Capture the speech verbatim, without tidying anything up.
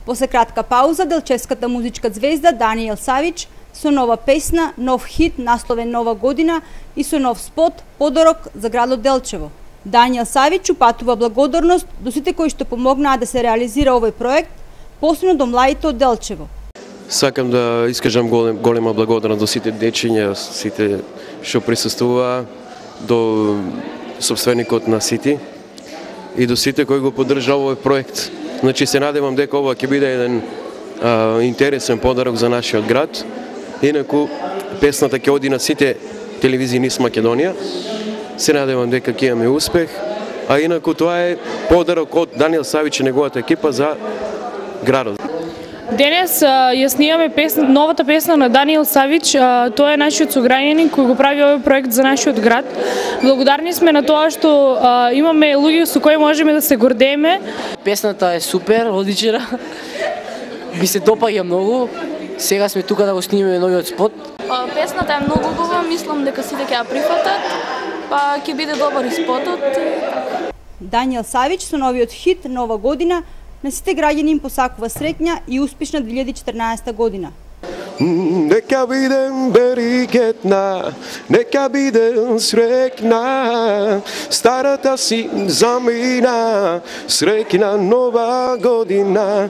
После кратка пауза, делчевската музичка звезда Даниел Савич со нова песна, нов хит насловен Нова година и со нов спот подарок за градот Делчево. Даниел Савич упатува благодарност до сите кои што помогнаа да се реализира овој проект, посебно до младите од Делчево. Сакам да искажам голем, голема благодарност до сите дечиња, сите што присуствуваа, до собственикот на Сити и до сите кои го поддржаа овој проект. Значи се надевам дека ова ќе биде еден а, интересен подарок за нашиот град. Инаку песната ќе оди на сите телевизии низ Македонија. Се надевам дека ќе имаме успех, а инаку тоа е подарок од Даниел Савич и неговата екипа за градот. Денес ја снимаме песна, новата песна на Даниел Савич. Тој е нашиот сограѓанин кој го прави овој проект за нашиот град. Благодарни сме на тоа што а, имаме луѓе со кои можеме да се гордееме. Песната е супер, одлична. Ми се допаѓа многу. Сега сме тука да го снимаме новиот спот. Песната е многу убава, мислам дека сите ќе ја прифатат, па ќе биде добар и спотот. Даниел Савич со новиот хит Нова година на сите граѓани им посакува среќна и успешна две илјади и четрнаесета година. Нека бидем берикетна, нека бидем среќна, старата си замина, среќна нова година.